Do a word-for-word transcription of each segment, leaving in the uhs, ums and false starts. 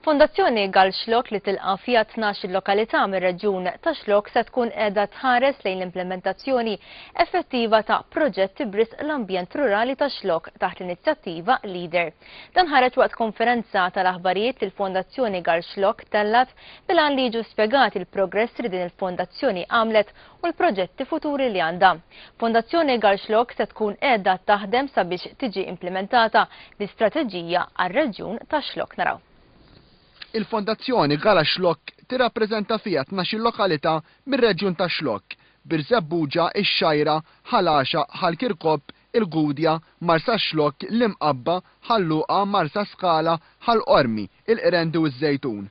Fondazzjoni Għax-Xlokk li tilqa' fiha tnax-il lokalità mir-reġjun tax-Xlokk se tkun qiegħda tħares lejn l-implementazzjoni effettiva ta' proġetti b'risq l-ambjent rurali tax-Xlokk taħt l-inizjattiva Leader. Dan ħareġ waqt konferenza tal-aħbarijiet li l-Fondazzjoni Għax-Xlokk tellgħet bil-għan li jiġu spjegati l-progress li din il-fondazzjoni għamlet u l-proġetti futuri li għandha. Fondazzjoni Għax-Xlokk se tkun qiegħda taħdem sabiex tiġi implementata l-istrateġija għar-reġjun tax-Xlokk. Naraw. Il-Fondazzjoni Għax-Xlokk tirrappreżenta fiha tnax-il lokalità mir-reġjun tax-Xlokk, Birżebbuġa, ix-Xgħajra, Ħal Għaxaq, Ħal Kirkop, il-Gudja, Marsaxlokk, l-Imqabba, Ħal Luqa, Marsaskala, Ħal Qormi, il-Qrendi u ż-Żejtun.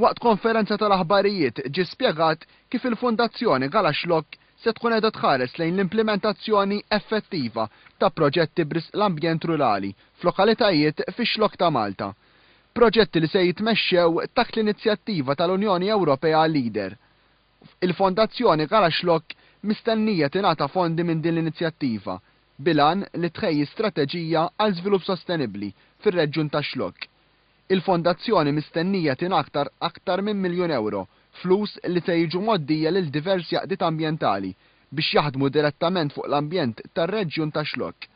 Waqt konferenza tal-aħbarijiet ġie spjegat kif il-Fondazzjoni Għax-Xlokk se tkun qiegħda tħares lejn l-implementazzjoni effettiva ta' proġetti b'risq l-ambjent rurali f'lokalitajiet fix-Xlokk ta' Malta. Proġetti li se jitmexxew taħt l-inizjattiva tal-Unjoni Ewropea Leader. Il-Fondazzjoni Għax-Xlokk mistennija tingħata fondi minn din l-inizjattiva bil-għan li tħejji strateġija għal żvilupp sostenibbli fir-reġjun tax-Xlokk. Il-fondazzjoni mistennija tingħata aktar minn miljun euro, flus li se jiġu mgħoddija lil diversi għaqdiet ambjentali biex jaħdmu direttament fuq l-ambjent tar-reġjun tax-Xlokk.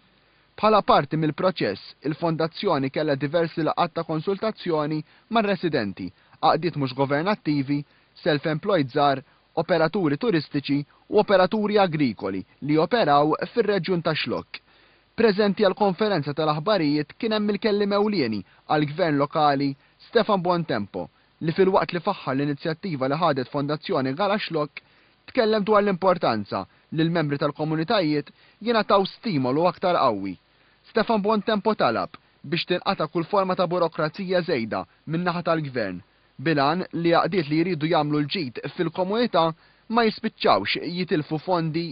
Bħala parti mill-proċess, il-fondazzjoni kellha diversi laqgħat ta' konsultazzjoni mar-residenti, għaqdiet mhux governattivi, self-employed żgħar, operaturi turistiċi u operaturi agrikoli li operaw fir-reġjun tax-Xlokk. Preżenti għal konferenza tal-aħbarijiet kien hemm il-kelliem ewlieni għall-Gvern Lokali Stefan Buontempo, li filwaqt li faħħar l-inizjattiva li ħadet Fondazzjoni Għax-Xlokk, tkellem dwar l-importanza li l-membri tal-komunitajiet jingħataw stimolu aktar qawwi. Stefan Buontempo talab biex tinqata' kull forma ta' burokrazija żejda min-naħa tal-gvern bil-għan li għaqdiet li jridu jagħmlu l-ġid fil-komunità ma jispiċċawx jitilfu fondi.